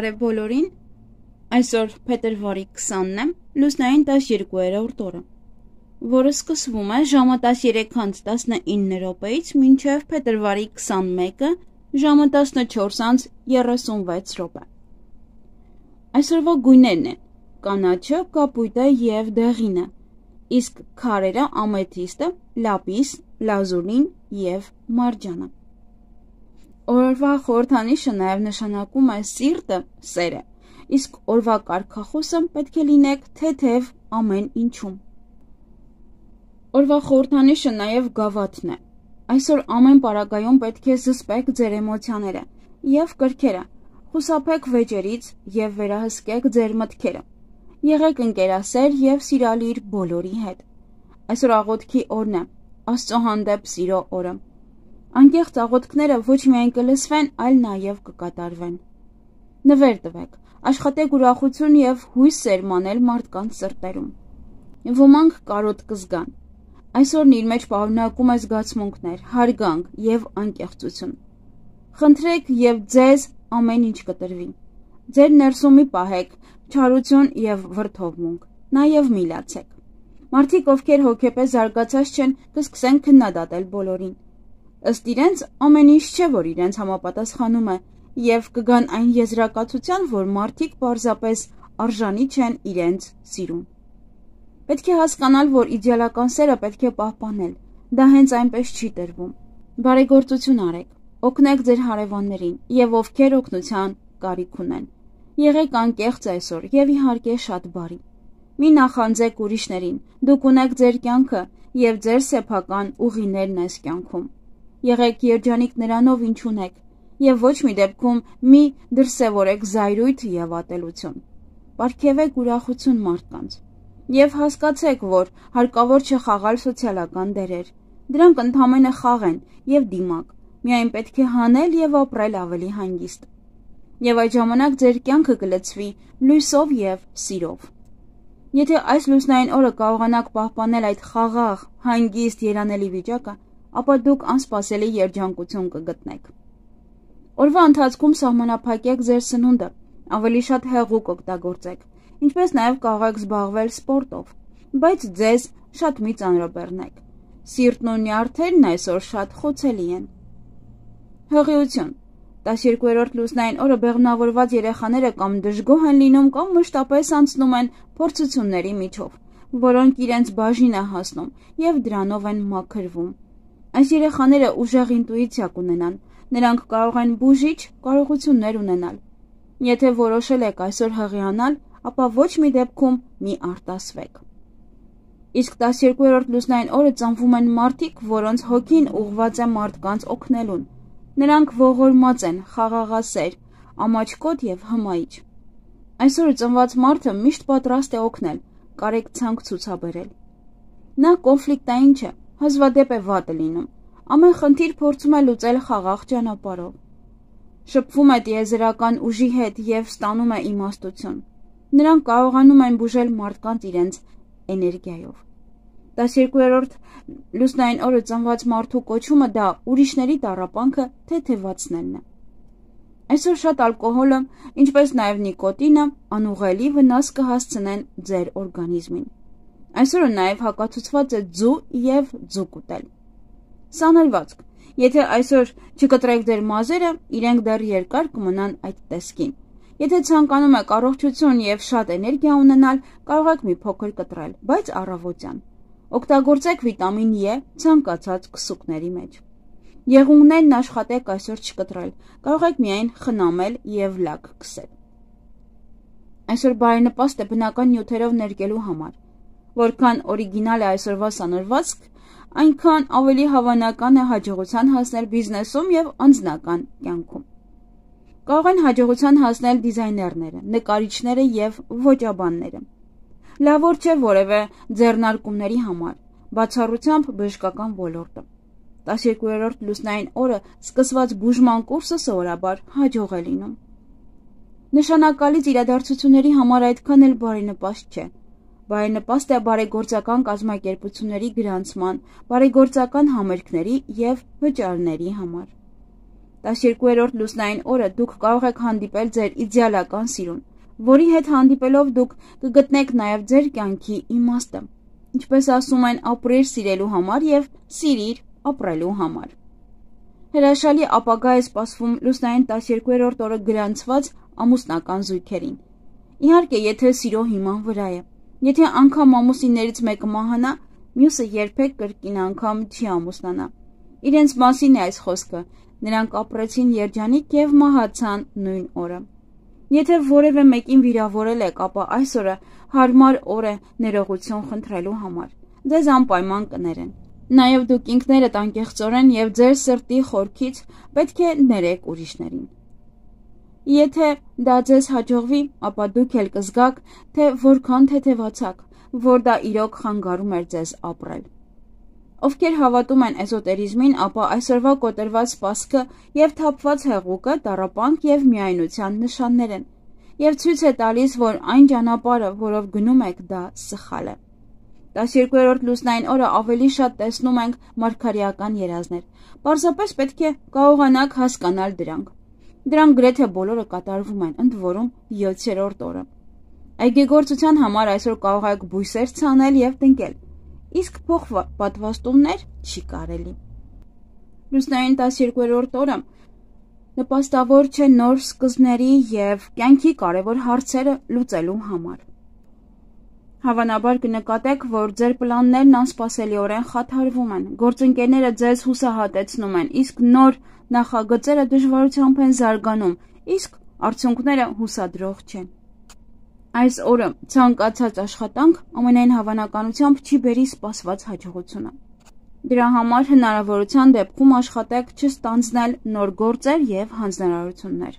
Բարև բոլորին, այսօր փետրվարի 20-ն է, լուսնային 12-րդ օրը, որը սկսվում է ժամը 13:19 րոպեից մինչև փետրվարի 21-ը ժամը 14:36 րոպե։ Այսօրվա գույներն են կանաչը, կապույտը և դեղինը, իսկ քարերը ամեթիստը, լապիս, լազուրին և մարջանը։ Օրվա խորհրդանիշը նաև նշանակում է սիրտը, սերը, իսկ օրվա կարգախոսը պետք է լինեք թեթև ամեն ինչում։ Օրվա խորհրդանիշը նաև գավաթն է։ Այսօր ամեն պարագայում պետք է զսպեք ձեր էմոցիաները և կրքերը, խուսափեք վեճերից և վերահսկեք ձեր մտքերը։ Եղեք ընկերասեր և սիրալիր բոլորի հետ։ Այսօր աղոթքի օրն է, Աստծո հանդեպ սիրո օրը։ Անկեղծ աղոթքները ոչ միայն կլսվեն, այլ նաև կկատարվեն։ Նվեր տվեք, աշխատեք ուրախություն և հույս սերմանել մարդկանց սրտերում։ Ոմանք կարոտ կզգան։ Այսօրն իր մեջ պարունակում է զգացմունքներ, հարգանք և անկեղծություն։ Խնդրեք և ձեզ ամեն ինչ կտրվի։ Ձեր ներսում մի պահեք չարություն և վրդովմունք, նաև մի լացեք։ Մարդիկ, ովքեր հոգեպես զարգացած չեն, կսկսեն քննադատել բոլորին։ Ըստ իրենց ամեն ինչ չէ, որ իրենց համապատասխանում է, և կգան այն եզրակացության, որ մարդիկ պարզապես արժանի չեն իրենց սիրուն։ Պետք է հասկանալ, որ իդեալական սերը պետք է պահպանել, դա հենց այնպես չի տրվում։ Բարեգործություն արեք, օգնեք ձեր հարևաններին և ովքեր օգնության կարիք ունեն։ Եղեք անկեղծ այսօր և իհարկե շատ բարի։ Մի նախանձեք ուրիշներին, դուք ունեք ձեր կյանքը և ձեր սեփական ուղիներն այս կյանքում։ Եղեք երջանիկ նրանով, ինչ ունեք, և ոչ մի դեպքում մի դրսևորեք զայրույթ և ատելություն։ Պարգևեք ուրախություն մարդկանց։ Եվ հասկացեք, որ հարկավոր չէ խաղալ սոցիալական դերեր։ Դրանք ընդամենը խաղ են և դիմակ, միայն պետք է հանել և ապրել ավելի հանգիստ։ Եվ այդ ժամանակ ձեր կյանքը կլցվի լույսով և սիրով։ Եթե այս լուսնային օրը կարողանաք պահպանել այդ խաղաղ, հանգիստ, երանելի վիճակը, ապա դուք անսպասելի երջանկություն կգտնեք։ Օրվա ընթացքում սահմանափակեք ձեր սնունդը, ավելի շատ հեղուկ օգտագործեք, ինչպես նաև կարող եք զբաղվել սպորտով, բայց ձեզ շատ մի ծանրաբեռնեք։ Սիրտն ու նյարդերն այսօր շատ խոցելի են։ Հղիություն։ 12-րդ լուսնային օրը բեղմնավորված երեխաները կամ դժգոհ են լինում, կամ մշտապես անցնում են փորձությունների միջով, որոնք իրենց բաժին է հասնում և դրանով են մաքրվում։ Այս երեխաները ուժեղ ինտուիցիա կունենան, նրանք կարող են բուժիչ կարողություններ ունենալ։ Եթե որոշել եք այսօր հղիանալ, ապա ոչ մի դեպքում մի արտասվեք։ Իսկ 12-րդ լուսնային օրը ծնվում են մարդիկ, որոնց հոգին ուղղված է մարդկանց օգնելուն։ Նրանք ողորմած են, խաղաղասեր, ամաչկոտ և հմայիչ։ Այսօր ծնված մարդը միշտ պատրաստ է օգնել, կարեկցանք ցուցաբերել։ Նա կոնֆլիկտային չէ, հազվադեպ է վատը լինում, ամեն խնդիր փորձում է լուծել խաղաղ ճանապարհով։ Շփվում է տիեզերական ուժի հետ և ստանում է իմաստություն։ Նրանք կարողանում են բուժել մարդկանց իրենց էներգիայով։ 12-րդ լուսնային օրը ծնված մարդու կոչումը դա ուրիշների տառապանքը թեթևացնելն է։ Այսօր շատ ալկոհոլը, ինչպես նաև նիկոտինը, անուղղելի վնաս կհասցնեն ձեր օրգանիզմին։ Այսօրը նաև հակացուցված է ձու և ձուկ ուտել։ Սանրվածք։ Եթե այսօր չկտրեք ձեր մազերը, իրենք դեռ երկար կմնան այդ տեսքին։ Եթե ցանկանում եք առողջություն և շատ էներգիա ունենալ, կարող եք մի փոքր կտրել, բայց առավոտյան։ Օգտագործեք վիտամին E ցանկացած քսուկների մեջ։ Եղունգներն աշխատեք այսօր չկտրել, կարող եք միայն խնամել և լաք քսել։ Այսօր բարենպաստ է բնական նյութերով ներկելու համար։ Որքան օրիգինալ է այսօրվա սանրվածք, այնքան ավելի հավանական է հաջողության հասնել բիզնեսում և անձնական կյանքում։ Կարող են հաջողության հասնել դիզայներները, նկարիչները և ոճաբանները։ Լավ օր չէ որևէ ձեռնարկումների համար, բացառությամբ բժշկական ոլորտը։ 12-րդ լուսնային օրը սկսված բուժման կուրսը սովորաբար հաջող է լինում։ Նշանակալից իրադարձությունների համար այդքան էլ բարենպաստ չէ։ Բարենպաստ է բարեգործական կազմակերպությունների գրանցման, բարեգործական համերգների և վճարների համար։ 12-րդ լուսնային օրը դուք կարող եք հանդիպել ձեր իդեալական սիրուն, որի հետ հանդիպելով դուք կգտնեք նաև ձեր կյանքի իմաստը։ Ինչպես ասում են, ապրիր սիրելու համար և սիրիր ապրելու համար։ Հրաշալի ապագա է սպասվում լուսնային 12-րդ օրը գրանցված ամուսնական զույգերին։ Իհարկե, եթե սիրո հիման վրա է։ Եթե անգամ ամուսիններից մեկը մահանա, մյուսը երբեք կրկին անգամ չի ամուսնանա։ Իրենց մասին է այս խոսքը։ Նրանք ապրեցին երջանիկ և մահացան նույն օրը։ Եթե որևէ մեկին վիրավորել եք, ապա այս օրը հարմար օր է ներողություն խնդրելու համար։ Ձեզ անպայման կներեն։ Նաև դուք ինքներդ անկեղծորեն և ձեր սրտի խորքից պետք է ներեք ուրիշներին։ Եթե դա ձեզ հաջողվի, ապա դուք էլ կզգաք, թե որքան թեթևացաք, որ դա իրոք խանգարում էր ձեզ ապրել։ Ովքեր հավատում են էզոտերիզմին, ապա այսօրվա կոտրված սպասքը և թափված հեղուկը տառապանք և միայնության նշաններ են, և ցույց է տալիս, որ այն ճանապարհը, որով գնում եք, դա սխալ է։ 12-րդ լուսնային օրը ավելի շատ տեսնում ենք մարգարեական երազներ։ Պարզապես պետք է կարողանաք հասկանալ դրանք։ Դրանք գրեթե բոլորը կատարվում են, ընդ որում 7-րդ օրը։ Այգեգործության համար այսօր կարող եք բույսեր ցանել և տնկել, իսկ փոխպատվաստումներ չի կարելի։ Լուսնային 12-րդ օրը նպաստավոր չէ նոր սկզբների և կյանքի կարևոր հարցերը լուծելու համար։ Հավանաբար կնկատեք, որ ձեր պլաններն անսպասելիորեն խաթարվում են, գործընկերները ձեզ հուսահատեցնում են, իսկ նոր նախագծերը դժվարությամբ են զարգանում, իսկ արդյունքները հուսադրող չեն։ Այս օրը ցանկացած աշխատանք ամենայն հավանականությամբ չի բերի սպասված հաջողությունը։ Դրա համար հնարավորության դեպքում աշխատեք չստանձնել նոր գործեր և հանձնարարություններ։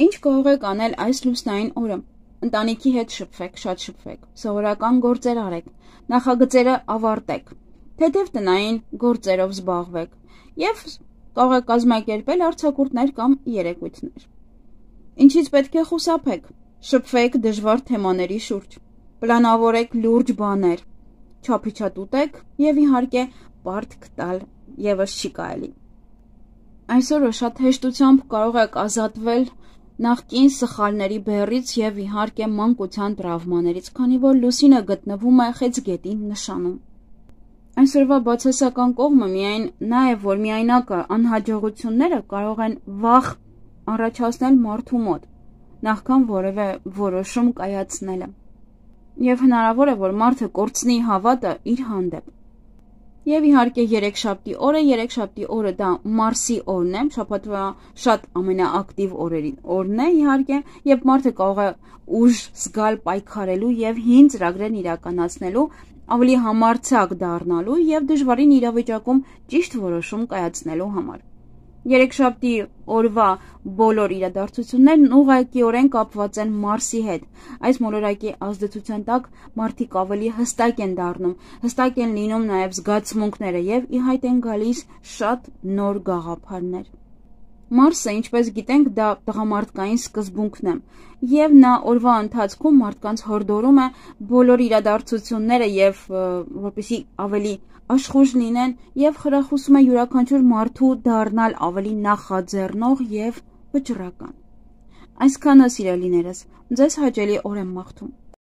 Ինչ կարող եք անել այս լուսնային օրը։ Ընտանիքի հետ շփվեք, շատ շփվեք, սովորական գործեր արեք, նախագծերը ավարտեք, թեթև տնային գործերով զբաղվեք և կարող եք կազմակերպել արձակուրդներ կամ երեկույթներ։ Ինչից պետք է խուսափեք։ Շփվեք դժվար թեմաների շուրջ, պլանավորեք լուրջ բաներ, չափիչատուտեք և իհարկե պարտք տալ ևս չի կարելի։ Այսօրը շատ հեշտությամբ կարող եք ազատվել նախկին սխալների բեռից և իհարկե մանկության տրավմաներից, քանի որ լուսինը գտնվում է խեցգետի նշանում։ Այսօրվա բացասական կողմը միայն նա է, որ միայնակը անհաջողությունները կարող են վախ առաջացնել մարդու մոտ, նախքան որևէ որոշում կայացնելը, և հնարավոր է, որ մարդը կորցնի հավատը իր հանդեպ։ Եվ իհարկե երեքշաբթի օրը դա Մարսի օրն է, շաբաթվա շատ ամենաակտիվ օրն է իհարկե, եւ մարդը կարող է ուժ զգալ պայքարելու եւ հին ծրագրերն իրականացնելու, ավելի համարձակ դառնալու եւ դժվարին իրավիճակում ճիշտ որոշում կայացնելու համար։ Երեքշաբթի օրվա բոլոր իրադարձություններն ուղղակիորեն կապված են Մարսի հետ։ Այս մոլորակի ազդեցության տակ մարդիկ ավելի հստակ են դառնում, հստակ են լինում նաև զգացմունքները եւ ի հայտ են գալիս շատ նոր գաղափարներ։ Մարսը, ինչպես գիտենք, դա տղամարդկային սկզբունքն է, եւ նա օրվա ընթացքում մարդկանց հորդորում է բոլոր իրադարձությունները եւ որպեսզի ավելի աշխուժ լինեն եւ խրախուսում է յուրաքանչյուր մարդու դառնալ ավելի նախաձեռնող եւ վճռական։ Այսքանը, սիրելիներս, ձեզ հաճելի օր եմ մաղթում։